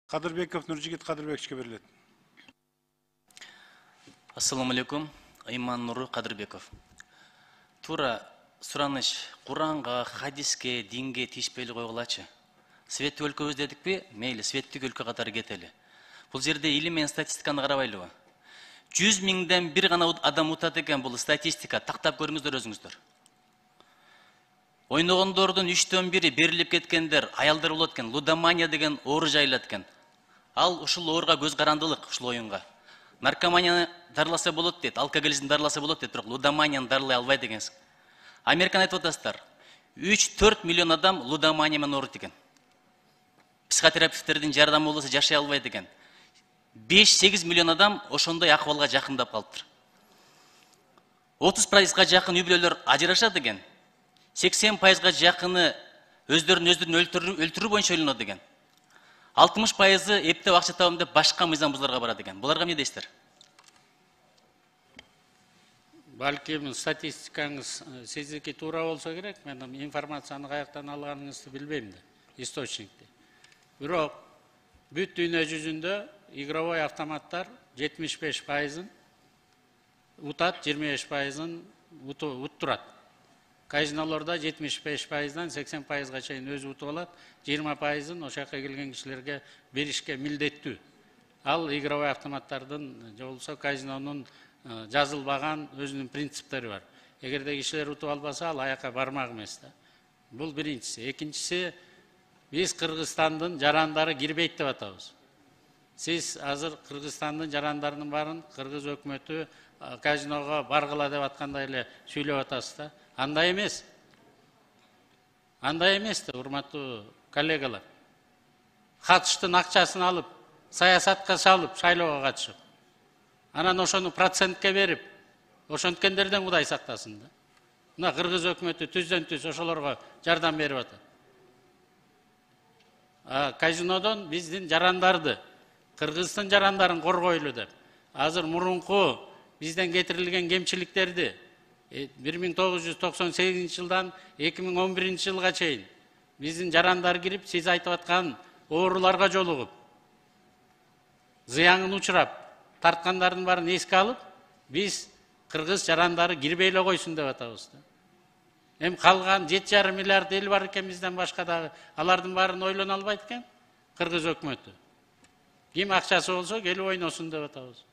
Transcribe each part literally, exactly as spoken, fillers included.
Кадырбеков Нуржигит Кадырбековичке берилет. Ассаламу алейкум. Айман Нуру Кадырбеков. Тура сураныш Куранга, хадиске, динге тиешпей койгулачы. Светтик өлкөбүз дедикпи? Мейли, светтик өлкө катары кетели. Бул жерде илим менен статистиканы карабайлыбы? жүз миңден бир гана адам утат экен, бул статистика. Тактап көрүңүздөр өзүңүздөр. Ойногондордун үчтөн бири берилип кеткендер, аялдар болот экен. Лудомания деген оору жайылат экен. Ал ушул ооруга көз карандылык, ушул оюнга. Наркоманияны дарыласа болот дейт, алкоголизмди дарыласа болот дейт, бирок лудоманияны дарылай албайт экенсиң. Американы айтып атасыздар. үч төрт миллион адам лудомания менен ооруйт экен. Психотерапевттердин жардамы болбосо жашай албайт экен. беш сегиз миллион адам ошондой акыбалга жакындап калыптыр. отуз пайызга жакын үй бүлөлөр ажырашат экен. сексен пайызга жакыны өздөрүн өздөрүн өлтүрүү боюнча ойлонот экен. алтымыш пайызы эптеп акча табам деп башка мыйзам бузууларга барат экен. Буларга эмне дейсиздер? Балким статистикаңыз сиздики туура болсо керек, мен информацияны каяктан алганыңызды билбейм да, источникти. Бирок бүт дүйнө жүзүндө игровой автоматтар жетимиш беш пайызын утат, жыйырма беш пайызын уттурат. Казинолордо жетимиш беш пайыздан сексен пайызга чейин өзү утуп алат, жыйырма пайызын ошол жака келген кишилерге беришке милдеттүү. Ал игровой автоматтардын же болбосо казинонун жазылбаган өзүнүн принциптери бар. Эгерде кишилер утуп албаса, ал аяка бармак эмес да. Бул биринчиси. Экинчиси, биз Кыргызстандын жарандары кирбейт деп атабыз. Сиз азыр Кыргызстандын жарандарынын баарын кыргыз өкмөтү казиного баргыла деп аткандай эле сүйлөп атасыз да. Андай эмес. Андай эмес да, урматтуу коллегалар. Катыштын акчасын алып, саясатка салып, шайлоого катышып. Анан ошону процентке берип, ошонткендерден Кудай сактасын да. Мына кыргыз өкмөтү түздөн түз ошолорго жардам берип атат. Казинодон биздин жарандарды, Кыргыздын жарандарын коргойлу деп. Азыр мурунку бизден кетирилген кемчиликтерди бир миң тогуз жүз токсон сегизинчи жылдан эки миң он биринчи жылга чейин биздин жарандар кирип, сиз айтып аткан ооруларга жолугуп, зыянын учурап, тарткандардын баарын эске алып, биз кыргыз жарандары кирбей эле койсун деп атабыз да. Эми калган жети жарым миллиард эл бар экен бизден башка дагы, алардын баарын ойлоно албайт экен кыргыз өкмөтү. Ким акчасы болсо келип ойносун деп атабыз.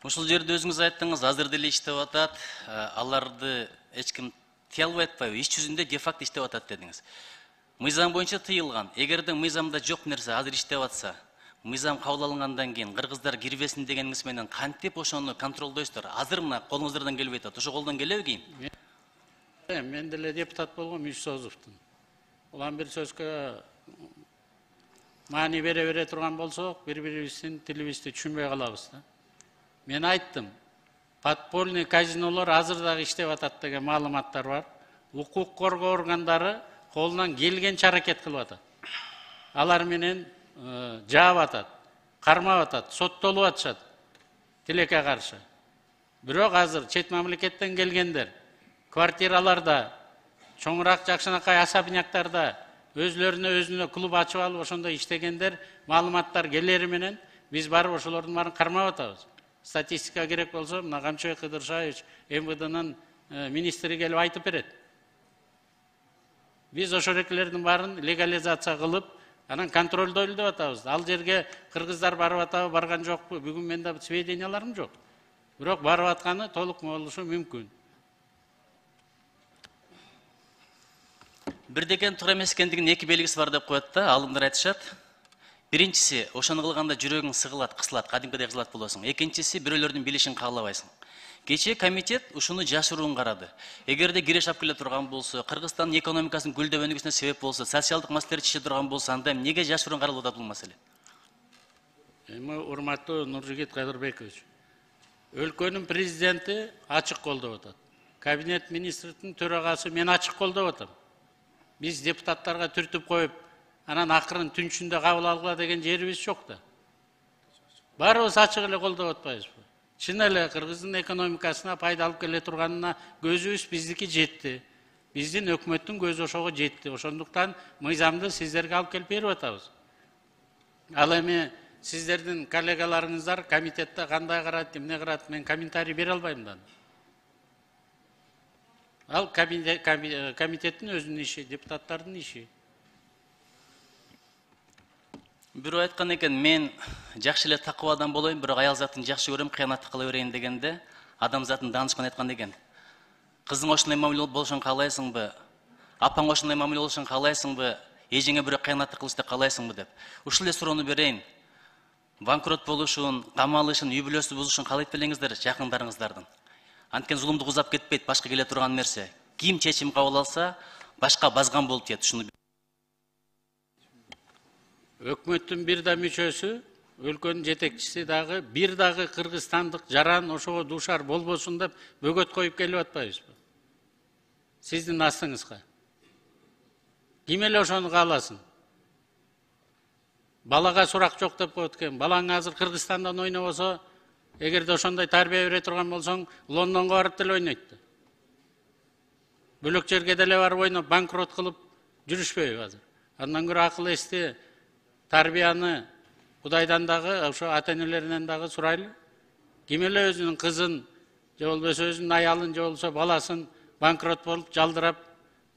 Ушул жерде өзүңүз айттыңыз, азыр деле иштеп атат, аларды эч ким тыя албай атпайбы? Иш жүзүндө де-факто иштеп атат дедиңиз. Мыйзам боюнча тыйылган. Эгерде мыйзамда жок нерсе азыр иштеп атса, мыйзам кабыл алынгандан кийин кыргыздар кирбесин дегениңиз менен кантип ошону контролдойсуздар? Азыр мына колуңуздардан келбей атат. Ошо колдон келеби кийин? Мен деле депутат болгом Мишсозовдун. Улам бир сөзгө маани бере бере турган болсок, бири-бирибиздин тилибизди түшүнбөй калабыз да. Мен айттым, подпольный казинолор азыр дагы иштеп атат деген маалыматтар бар. Укук коргоо органдары колунан келгенче аракет кылып атат. Алар менен жаап атат, кармап атат, соттолуп атышат тилекке каршы. Бирок азыр чет мамлекеттен келгендер квартираларда, чоңураак жакшынакай особняктарда өзлөрүнө өзүнө клуб ачып алып ошондой иштегендер маалыматтар келери менен биз барып ошолордун баарын кармап атабыз. Статистика керек болсо, мына Камчыбек Кыдыршаевич эм вэ дэнын министри келип айтып берет. Биз ошол экелердин баарын легализация кылып, анан контролдойлу деп атабыз. Ал жерге кыргыздар барып атабы, барган жокпу? Бүгүн менде сведенияларым жок. Бирок барып атканы толук болушу мүмкүн. Бирдекен туура эмес экендигинин эки белгиси бар деп коет да, алымдар айтышат. Биринчиси, ошону кылганда жүрөгүң сыгылат, кысылат, кадимкидей кысылат болосуң. Экинчиси, бирөөлөрдүн билишин каалабайсың. Кечээ комитет ушуну жашыруун карады. Эгерде киреш алып келе турган болсо, Кыргызстандын экономикасынын гүлдөп өнүгүшүнө себеп болсо, социалдык маселелер чече турган болсо, анда эмнеге жашыруун каралып атат бул маселе? Эми урматтуу Нуржигит Кадырбекович, өлкөнүн президенти ачык колдоп атат. Кабинет министрдин төрагасы мен ачык колдоп атам. Биз депутаттарга түртүп коюп, анан акырын түнчүндө кабыл алгыла деген жерибиз жок да. Баарыбыз ачык эле колдоп атпайбызбы? Чын эле Кыргыздын экономикасына пайда алып келе турганына көзүбүз биздики жетти. Биздин өкмөттүн көзү ошого жетти. Ошондуктан мыйзамды сиздерге алып келип берип атабыз. Ал эми сиздердин коллегаларыңыздар комитетте кандай карайт, эмне карайт, мен комментарий бере албайм да. Ал комитеттин өзүнүн иши, депутаттардын иши. Бирөө айткан экен, мен жакшы эле такып адам болоюн, бирок аял затын жакшы көрөм, кыянатты кыла берейин дегенде, адам затын данышкан айткан экен. Кызың ошондой мамиле болушун каалайсыңбы? Апаң ошондой мамиле болушун каалайсыңбы? Эжеңе бирөө кыянатты кылышты каалайсыңбы деп. Ушул эле суроону берейин. Банкрот болушун, камалышын, үй бүлөсү бузушун каалайт белеңиздер жакындарыңыздардын. Анткени зулумдук узап кетпейт, башка келе турган нерсе. Ким чечим кабыл алса, башка базган болуп тиет. Ушуну Өкмөттүн бир да мүчөсү, өлкөнүн жетекчиси дагы бир дагы кыргызстандык жаран ошого дуушар болбосун деп бөгөт коюп келип атпайбызбы? Сиздин астыңызга. Ким эле ошону кааласын? Балага сурак жок деп коет экен. Балаң азыр Кыргызстандан ойнобосо, эгерде ошондой тарбия бере турган болсоң, Лондонго барып деле ойнойт да. Бөлөк жерге деле барып ойноп, банкрот кылып жүрүшпөйбү азыр. Андан көрө акыл эсти тарбияны Кудайдан дагы, ошо ата-энелеринен дагы сурайлы. Ким эле өзүнүн кызын, же болбосо өзүнүн аялын, же болбосо баласын банкрот болуп, жалдырап,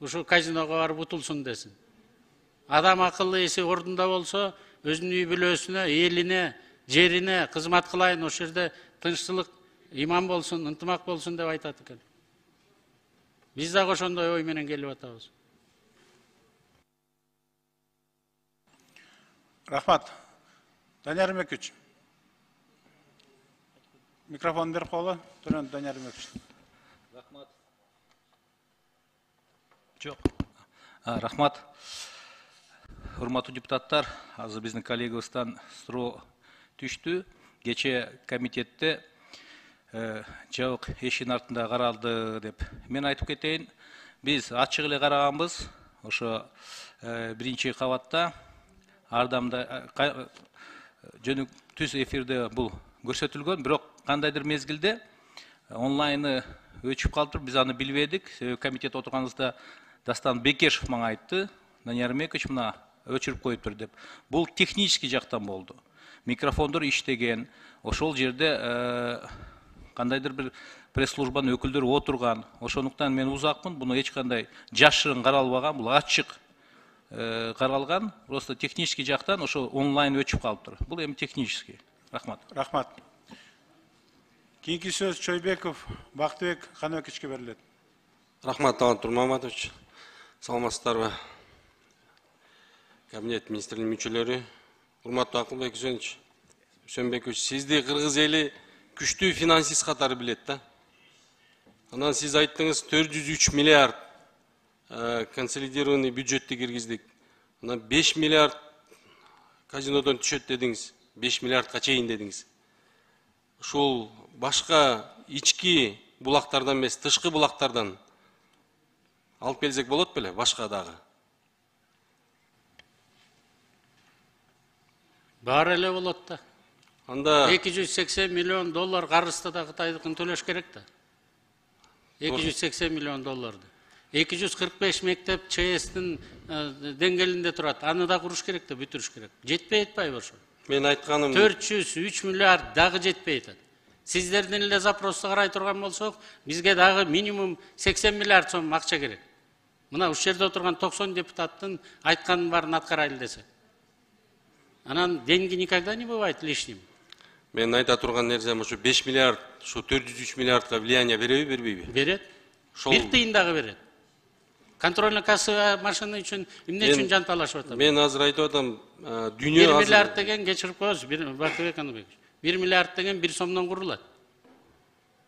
ушу казиного барып утулсун десин. Адам акылы эси ордунда болсо, өзүнүн үй бүлөсүнө, элине, жерине кызмат кылайын, ошол жерде тынччылык, иман болсун, ынтымак болсун деп айтат экен. Биз дагы ошондой ой менен келип атабыз. Рахмат. Данияр Мекич. Микрофон берип коелу. Төрөн Данияр Мекич. Рахмат. Жок. Рахмат. Урматтуу депутаттар, азыр биздин коллегабыздан суроо түштү. Кече комитетте жабык эшиктин артында каралды деп. Мен айтып кетейин, биз ачык эле караганбыз. Ошо биринчи кабатта ардамда жөнүк түз эфирде бул көрсөтүлгөн, бирок кандайдыр мезгилде онлайны өчүп калыптыр. Биз аны билбедик. Комитет отурганыбызда Дастан Бекешев мага айтты, Данияр Мекич мына өчүрүп коюптур деп. Бул технический жактан болду. Микрофондор иштеген, ошол жерде кандайдыр бир пресс-службанын өкүлдөрү отурган. Ошондуктан мен узакмын, буну эч кандай жашырын каралбаган, бул ачык каралган. Просто технический жактан ошо онлайн өчүп калыптыр. Бул эми технический. Рахмат. Рахмат. Кийинки сөз Чойбеков Бактыбек Каныбековичке берилет. Рахмат, Талант Турмаматович. Саламатсыздарбы? Кабинет министринин мүчөлөрү. Урматтуу Акылбек Үсөнбекович, сизди кыргыз эли күчтүү финансист катары билет да. Анан сиз айттыңыз төрт жүз үч миллиард консолидированный бюджетти киргиздик. Анан беш миллиард казинодон түшөт дедиңиз. беш миллиардка чейин дедиңиз. Ушул башка ички булактардан эмес, тышкы булактардан алып келсек болот беле, башка дагы? Баары эле болот да. Анда эки жүз сексен миллион доллар карызды да Кытайдыкын төлөш керек да. эки жүз сексен миллион долларды. эки жүз кырк беш мектеп ЧСтин деңгээлинде турат. Аны да куруш керек да, бүтүрүш керек. Жетпей атпайбы ошо? Мен айтканым төрт жүз үч миллиард дагы жетпей атат. Сиздердин эле запросту карай турган болсок, бизге дагы минимум сексен миллиард сом акча керек. Мына ушул жерде отурган токсон депутаттын айтканын баарын аткарайлы десек. Анан деньги никогда не бывает лишним. Мен айта турган нерсем ушу беш миллиард, ушу төрт жүз үч миллиардка влияние береби, бербейби? Берет. Бир тыйын дагы берет. Контрольно кассовый машина үчүн эмне үчүн жанталашып атам? Мен азыр айтып атам, дүйнө бир миллиард деген кечирип коесуз, Бактыбек Каныбекович. бир миллиард деген бир сомдон курулат.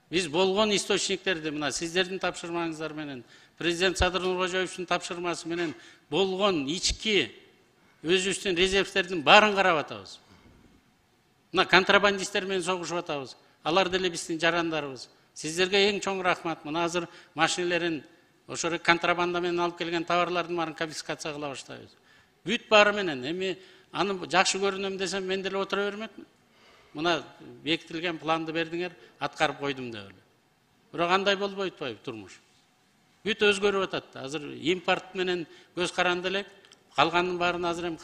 Биз болгон источниктерди мына сиздердин тапшырмаңыздар менен, президент Садыр Нуркожоевичтин тапшырмасы менен болгон ички өзүбүздүн резервтердин баарын карап атабыз. Мына контрабандисттер менен согушуп атабыз. Алар деле биздин жарандарыбыз. Сиздерге эң чоң рахмат. Мына азыр машинелерин ошо контрабанда менен алып келген товарлардын баарын конфискация кыла баштайбыз. Бүт баары менен. Эми аны жакшы көрүнөм десем мен деле отура бермекмин. Мына бекитилген планды бердиңер, аткарып койдум деп эле. Бирок андай болбой атпайбы турмуш? бүт өзгөрүп атат. Азыр импорт менен көз каранды элек, калганын баарын азыр эми